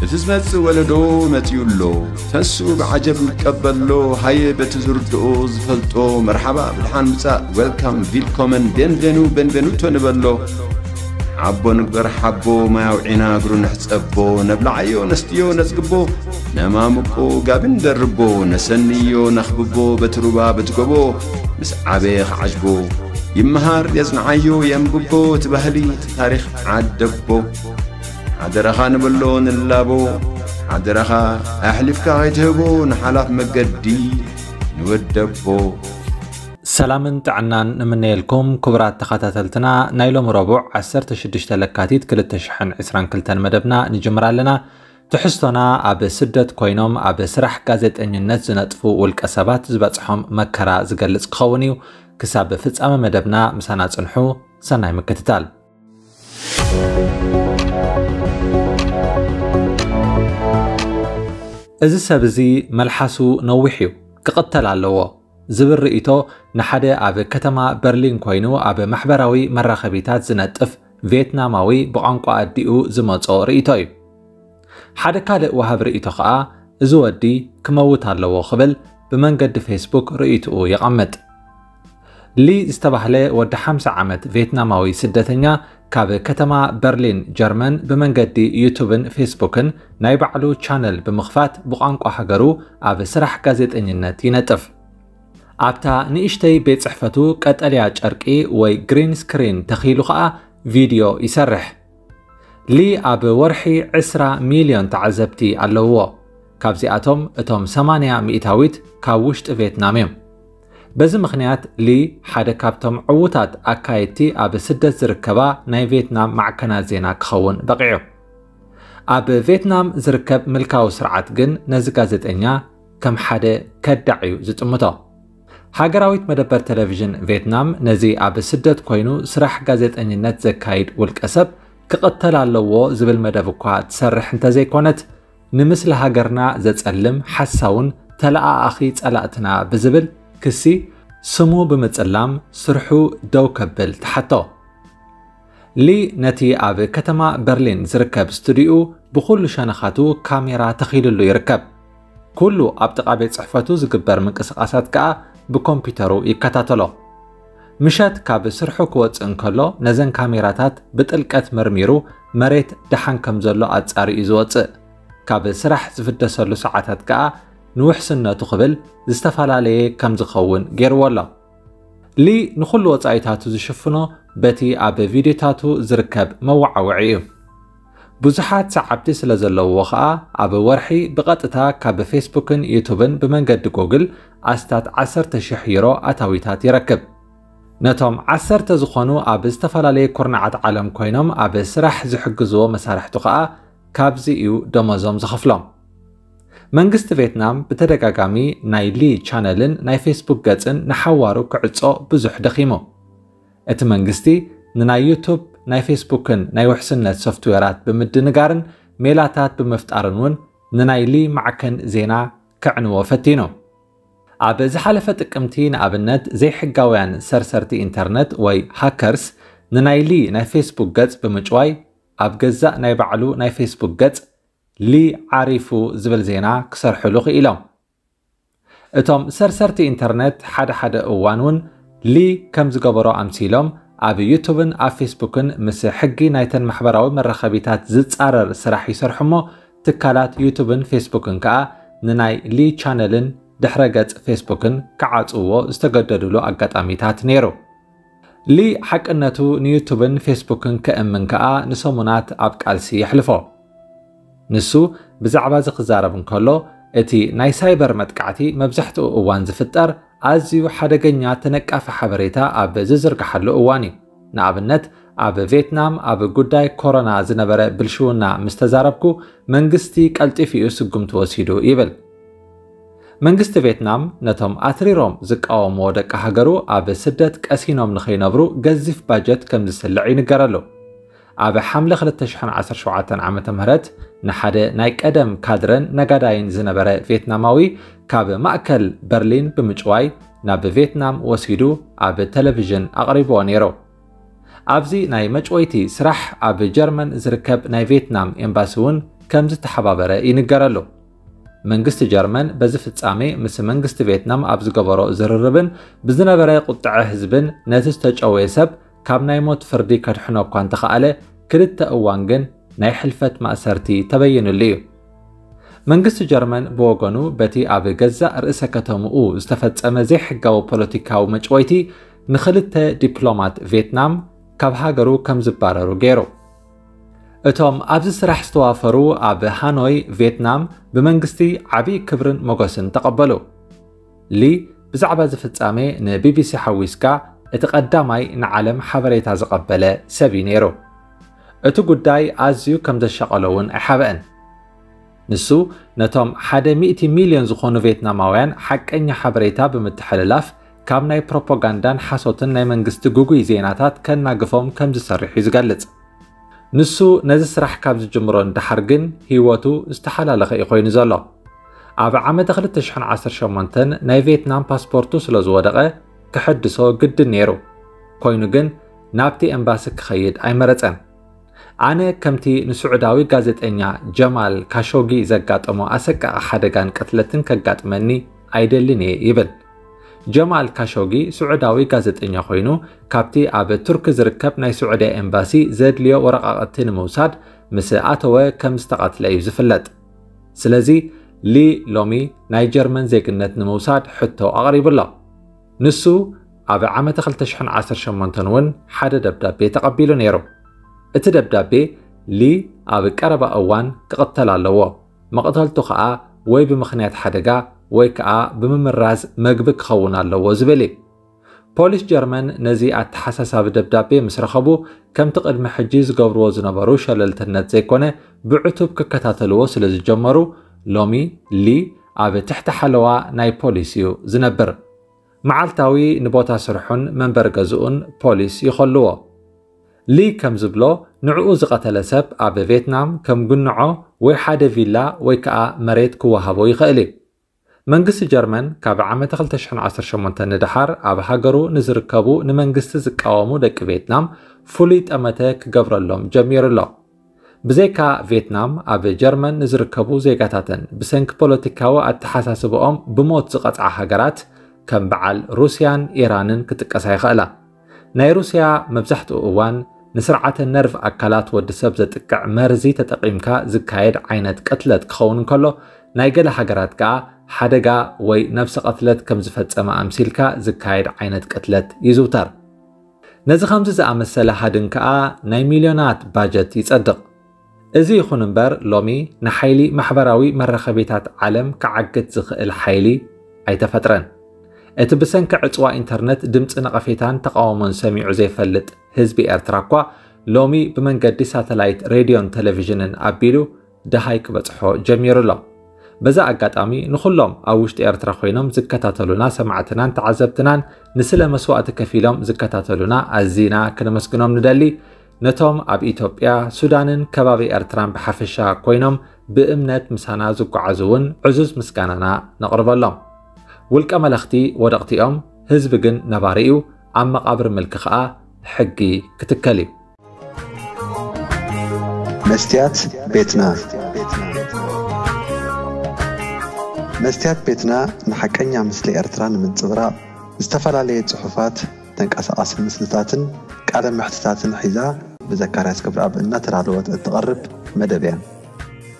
እቲ ዝመጽእ ወለዶ መጺኡ ኣሎ። ተንሱ ብዓጀብ ይቀበሎ፣ ሃየ በቲ ዝርድኦ ዝፈልጦ፣ መርሓባ ብድሓን ምጻእ፣ ዌልካም፣ ቪልኮመን፣ ቤንቬኑ፣ ቤንቬኑቶ ንበሎ። ሓቦ ንግበር ሓቦ፣ ማይ ኣውዒና እግሩ ንሕጸቦ፣ ነብልዓዮ ነስትዮ ነጽግቦ፣ ነማሙቆ ጋቢ ንደርቦ፣ ነሰንዮ ነኽብቦ፣ በቲ ሩባ በቲ ጎቦ፣ ምስ ዓበየ ክዓጅቦ፣ ይመሃር የጽንዓዮ የንብቦ፣ እቲ ባህሊ እቲ ታሪኽ ዓደቦ። ሓደራኻ ንበሎ ንላቦ፣ ሓደራኻ ኣሕሊፍካ ከይትህቦ ንሓላፍ መገዲ ንወደቦ። ሰላምን ጥዕናን ንምነየልኩም ክቡራት ተኸታተልትና፣ ናይ ሎሚ ረቡዕ ዓሰርተ ሽዱሽተ ለካቲት ክልተ ሽሕን ዕስራን ክልተን መደብና ንጅምር ኣለና። ትሕዝቶና ኣብ ስደት ኮይኖም ኣብ ስራሕ ጋዜጠኝነት ዝነጥፉ ውልቀ ሰባት ዝበጽሖም መከራ ዝገልጽ ክኸውን እዩ። ክሳብ ፍጻመ መደብና ምሳና ጽንሑ። ሰናይ ምክትታል። እዚ ሰብ እዚ መልሓሱ ነዊሕ እዩ፣ ክቕተል ኣለዎ ዝብል ርእይቶ ንሓደ ኣብ ከተማ በርሊን ኮይኑ ኣብ ማሕበራዊ መራኸቢታት ዝነጥፍ ቬትናማዊ ብቋንቋ ኣዲኡ ዝመጾ ርእይቶ እዩ። ሓደ ካልእ ወሃብ ርእይቶ ኸኣ እዚ ወዲ ክመውት ኣለዎ ክብል ብመንገዲ ፌስቡክ ርእይትኡ የቐምጥ። ሊ ዝተባህለ ወዲ ሓምሳ ዓመት ቬትናማዊ ስደተኛ ካብ ከተማ በርሊን ጀርመን ብመንገዲ ዩቱብን ፌስቡክን ናይ ባዕሉ ቻነል ብምኽፋት ብቋንቋ ሃገሩ ኣብ ስራሕ ጋዜጠኝነት ይነጥፍ። ኣብታ ንእሽተይ ቤት ጽሕፈቱ ቀጠልያ ጨርቂ ወይ ግሪን ስክሪን ተኺሉ ኸኣ ቪድዮ ይሰርሕ። ሊ ኣብ ወርሒ ዕስራ ሚልዮን ተዓዘብቲ ኣለውዎ። ካብዚኣቶም እቶም ሰማንያ ሚእታዊት ካብ ውሽጢ ቬትናም እዮም። በዚ ምኽንያት ሊ ሓደ ካብቶም ዕዉታት ኣካየድቲ ኣብ ስደት ዝርከባ ናይ ቬትናም ማዕከናት ዜና ክኸውን በቒዑ። ኣብ ቬትናም ዝርከብ ምልካዊ ስርዓት ግን ነዚ ጋዜጠኛ ከም ሓደ ከዳዕ እዩ ዝጥምቶ። ሃገራዊት መደበር ቴሌቪዥን ቬትናም ነዚ ኣብ ስደት ኮይኑ ስራሕ ጋዜጠኝነት ዘካይድ ውልቀ ሰብ ክቕተል ኣለዎ ዝብል መደብ እኳ ትሰርሕ እንተዘይኮነት፣ ንምስሊ ሃገርና ዘጸልም ሓሳውን ተለኣኣኺ ጸላእትና ብዝብል ክሲ ስሙ ብምጽላም ስርሑ ደው ከብል ተሓቶ። ሊ ነቲ ኣብ ከተማ በርሊን ዝርከብ ስቱዲኡ ብኹሉ ሸነኻቱ ካሜራ ተኺልሉ ይርከብ። ኩሉ ኣብ ጥቓ ቤት ጽሕፈቱ ዝግበር ምንቅስቓሳት ከኣ ብኮምፒውተሩ ይከታተሎ። ምሸት ካብ ስርሑ ክወጽእ እንከሎ ነዘን ካሜራታት ብጥልቀት መርሚሩ መሬት ደሓን ከም ዘሎ ኣጻሪ እዩ ዝወጽእ። ካብ ስራሕ ዝፍደሰሉ ሰዓታት ከኣ ንውሕስነቱ ክብል ዝተፈላለየ ከም ዝኸውን ገይርዎ ኣሎ። ሊ ንኹሉ ወጻኢታቱ ዝሽፍኖ በቲ ኣብ ቪድዮታቱ ዝርከብ መወዓውዒ እዩ። ብዙሓት ሰዓብቲ ስለ ዘለውዎ ኸኣ ኣብ ወርሒ ብቐጥታ ካብ ፌስቡክን ዩቱብን ብመንገዲ ጎግል ኣስታት ዓሰርተ ሽሕ ዩሮ ኣታዊታት ይረክብ። ነቶም ዓሰርተ ዝኾኑ ኣብ ዝተፈላለየ ኩርናዓት ዓለም ኮይኖም ኣብ ስራሕ ዝሕግዝዎ መሳርሕቱ ኸኣ ካብዚ እዩ ደሞዞም ዝኸፍሎም። መንግስቲ ቬትናም ብተደጋጋሚ ናይ ሊ ቻነልን ናይ ፌስቡክ ገጽን ንሓዋሩ ክዕጾ ብዙሕ ደኺሙ። እቲ መንግስቲ ንናይ ዩቱብ፣ ናይ ፌስቡክን ናይ ውሕስነት ሶፍትዌራት ብምድንጋርን ሜላታት ብምፍጣርን እውን ንናይ ሊ ማዕከን ዜና ከዕንዎ ፈቲኑ። ኣብ ዝሓለፈ ጥቅምቲ ንኣብነት ዘይሕጋውያን ሰርሰርቲ ኢንተርነት ወይ ሃከርስ ንናይ ሊ ናይ ፌስቡክ ገጽ ብምጭዋይ ኣብ ገዛእ ናይ ባዕሉ ናይ ፌስቡክ ገጽ ሊ ዓሪፉ ዝብል ዜና ክሰርሕሉ ክኢሎም። እቶም ሰርሰርቲ ኢንተርነት ሓደ ሓደ እዋን እውን ሊ ከም ዝገበሮ ኣምሲሎም ኣብ ዩቱብን ኣብ ፌስቡክን ምስ ሕጊ ናይተን ማሕበራዊ መራኸቢታት ዝጻረር ስራሕ ይሰርሑ እሞ ትካላት ዩቱብን ፌስቡክን ከኣ ንናይ ሊ ቻነልን ድሕረ ገጽ ፌስቡክን ክዓጽውዎ ዝተገደዱሉ ኣጋጣሚታት ነይሩ። ሊ ሓቅነቱ ንዩቱብን ፌስቡክን ከእምን ከኣ ንሰሙናት ኣብ ቃልሲ የሕልፎ። ንሱ ብዛዕባ እዚ ክዛረብ እንከሎ እቲ ናይ ሳይበር መጥቃዕቲ መብዛሕትኡ እዋን ዝፍጠር ኣዝዩ ሓደገኛ ተነቃፊ ሓበሬታ ኣብ ዝዝርግሓሉ እዋን እዩ። ንኣብነት ኣብ ቬትናም ኣብ ጉዳይ ኮሮና ዝነበረ ብልሽውና ምስ ተዛረብኩ መንግስቲ ቀልጢፉ እዩ ስጉምቲ ወሲዱ ይብል። መንግስቲ ቬትናም ነቶም ኣትሪሮም ዝቃወምዎ ደቂ ሃገሩ ኣብ ስደት ቀሲኖም ንኸይነብሩ ገዚፍ ባጀት ከም ዝስልዕ ይንገረሉ። ኣብ ሓምለ ክልተ ሽሕን ዓሰርተ ሸውዓተን ዓመተ ምህረት ንሓደ ናይ ቀደም ካድረን ነጋዳይን ዝነበረ ቬትናማዊ ካብ ማእከል በርሊን ብምጭዋይ ናብ ቬትናም ወሲዱ ኣብ ቴሌቪዥን ኣቕሪብዎ ነይሩ። ኣብዚ ናይ መጭወይቲ ስራሕ ኣብ ጀርመን ዝርከብ ናይ ቬትናም ኤምባሲ እውን ከም ዝተሓባበረ ይንገረሉ። መንግስቲ ጀርመን በዚ ፍጻሜ ምስ መንግስቲ ቬትናም ኣብ ዝገበሮ ዝርርብን ብዝነበረ ቁጥዐ ህዝብን ነቲ ዝተጨወየ ሰብ ካብ ናይ ሞት ፍርዲ ከድሕኖ እኳ እንተኸኣለ፣ ክልተ እዋን ግን ናይ ሕልፈት ማእሰርቲ ተበይንሉ እዩ። መንግስቲ ጀርመን ብወገኑ በቲ ኣብ ገዛእ ርእሰ ከተምኡ ዝተፈጸመ ዘይሕጋዊ ፖለቲካዊ መጭወይቲ ንኽልተ ዲፕሎማት ቬትናም ካብ ሃገሩ ከም ዝባረሩ ገይሩ። እቶም ኣብዚ ስራሕ ዝተዋፈሩ ኣብ ሃኖይ ቬትናም ብመንግስቲ ዓብዪ ክብርን ሞገስን ተቐበሉ። ሊ ብዛዕባ እዚ ፍጻሜ ንቢቢሲ ሓዊስካ እቲ ቀዳማይ ንዓለም ሓበሬታ ዝቐበለ ሰብ እዩ ነይሩ። እቲ ጉዳይ ኣዝዩ ከም ዘሻቐሎ እውን ኣይሓብአን። ንሱ ነቶም ሓደ ሚእቲ ሚልዮን ዝኾኑ ቬትናማውያን ሓቀኛ ሓበሬታ ብምትሕልላፍ ካብ ናይ ፕሮፓጋንዳን ሓሶትን ናይ መንግስቲ ግጉይ ዜናታት ከናግፎም ከም ዝሰርሕ እዩ ዝገልጽ። ንሱ ነዚ ስራሕ ካብ ዝጅምሮ ንደሓር ግን ህይወቱ ዝተሓላለኸ እዩ ኮይኑ ዘሎ። ኣብ ዓመተ ክልተ ሽሕን ዓሰርተ ሸሞንተን ናይ ቬትናም ፓስፖርቱ ስለ ዝወደቐ ክሕድሶ ግድን ነይሩ። ኮይኑ ግን ናብቲ ኤምባሲ ክኸይድ ኣይመረጸን። ኣነ ከምቲ ንስዑዳዊ ጋዜጠኛ ጀማል ካሾጊ ዘጋጠሞ ኣሰቃቒ ሓደጋን ቅትለትን ከጋጥመኒ ኣይደልን እየ ይብል። ጀማል ካሾጊ ስዑዳዊ ጋዜጠኛ ኮይኑ ካብቲ ኣብ ቱርኪ ዝርከብ ናይ ስዑድያ ኤምባሲ ዘድልዮ ወረቓቕቲ ንምውሳድ ምስ ኣተወ ከም ዝተቐትለ እዩ ዝፍለጥ። ስለዚ ሊ ሎሚ ናይ ጀርመን ዜግነት ንምውሳድ ሕቶ ኣቕሪቡ ኣሎ። ንሱ ኣብ ዓመተ ክልተ ሽሕን ዓሰርተ ሸሞንተን እውን ሓደ ደብዳቤ ተቐቢሉ ነይሩ። እቲ ደብዳቤ ሊ ኣብ ቀረባ እዋን ክቕተል ኣለዎ፣ መቕተልቱ ኸኣ ወይ ብምኽንያት ሓደጋ ወይ ከኣ ብምምራዝ መግቢ ክኸውን ኣለዎ ዝብል እዩ። ፖሊስ ጀርመን ነዚ ኣተሓሳሳቢ ደብዳቤ ምስ ረኸቡ ከምቲ ቅድሚ ሕጂ ዝገብርዎ ዝነበሩ ሸለልትነት ዘይኮነ ብዕቱብ ክከታተልዎ ስለ ዝጀመሩ ሎሚ ሊ ኣብ ትሕቲ ሓለዋ ናይ ፖሊስ እዩ ዝነብር። መዓልታዊ ንቦታ ስርሑን መንበሪ ገዝኡን ፖሊስ ይኸልዎ። ሊ ከም ዝብሎ ንዕኡ ዝቐተለ ሰብ ኣብ ቬትናም ከም ጉንዖ ወይ ሓደ ቪላ ወይ ከኣ መሬት ክወሃቦ ይኽእል እዩ። መንግስቲ ጀርመን ካብ ዓመተ ክልተ ሽሕን ዓሰርተ ሸሞንተን ንደሓር ኣብ ሃገሩ ንዝርከቡ ንመንግስቲ ዝቃወሙ ደቂ ቬትናም ፍሉይ ጠመተ ክገብረሎም ጀሚሩ ኣሎ። ብዘይካ ቬትናም ኣብ ጀርመን ንዝርከቡ ዜጋታተን ብሰንኪ ፖለቲካዊ ኣተሓሳስብኦም ብሞት ዝቐጽዓ ሃገራት ከም በዓል ሩስያን ኢራንን ክጥቀሳ ይኽእላ። ናይ ሩስያ መብዛሕትኡ እዋን ንስርዓተ ነርቭ ኣካላት ወዲ ሰብ ዘጥቅዕ መርዚ ተጠቒምካ ዝካየድ ዓይነት ቅትለት ክኸውን እንከሎ፣ ናይ ገለ ሃገራት ከኣ ሓደጋ ወይ ነብሰ ቅትለት ከም ዝፈጸመ ኣምሲልካ ዝካየድ ዓይነት ቅትለት ይዝውተር። ነዚ ከምዚ ዝኣመሰለ ሃድን ከኣ ናይ ሚልዮናት ባጀት ይጸድቕ። እዚ ይኹን እምበር ሎሚ ንሓይሊ ማሕበራዊ መራኸቢታት ዓለም ክዓግት ዝኽእል ሓይሊ ኣይተፈጥረን። እቲ ብሰንኪ ዕጽዋ ኢንተርነት ድምጺ ነቐፌታን ተቓውሞን ሰሚዑ ዘይፈልጥ ህዝቢ ኤርትራ እኳ ሎሚ ብመንገዲ ሳተላይት ሬድዮን ቴሌቪዥንን ኣቢሉ ደሃይ ክበጽሖ ጀሚሩ ኣሎ። በዛ ኣጋጣሚ ንኹሎም ኣብ ውሽጢ ኤርትራ ኮይኖም ዝከታተሉና ሰማዕትናን ተዓዘብትናን ንስለ መስዋእቲ ከፊሎም ዝከታተሉና ኣዚና ክነመስግኖም ንደሊ። ነቶም ኣብ ኢትዮጵያ፣ ሱዳንን ከባቢ ኤርትራን ብሓፈሻ ኮይኖም ብእምነት ምሳና ዝጓዓዙ እውን ዕዙዝ ምስጋናና ነቕርበሎም። ውልቀ መለኽቲ ወደቕቲ እዮም፣ ህዝቢ ግን ነባሪ እዩ፣ ኣብ መቓብር ምልኪ ኸኣ ሕጊ ክትከል እዩ። መስትያት ቤትና። መስትያት ቤትና ንሓቀኛ ምስሊ ኤርትራ ንምንጽብራቕ ዝተፈላለየ ጽሑፋት፣ ተንቀሳቓሲ ምስልታትን ቃለ መሕትታትን ሒዛ ብዘካርያስ ገብረኣብ እናተዳለወት እትቐርብ መደብ እያ።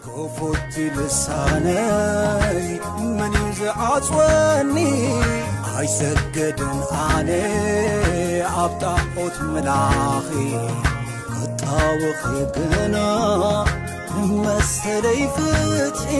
ክፉት ልሳነይ መን እዩ ዝዓጽወኒ? ኣይሰግድን ኣነ ኣብ ጣዖት ምላኺ፣ ክጣወኺ ግና ንመሰለይ ፍትሒ።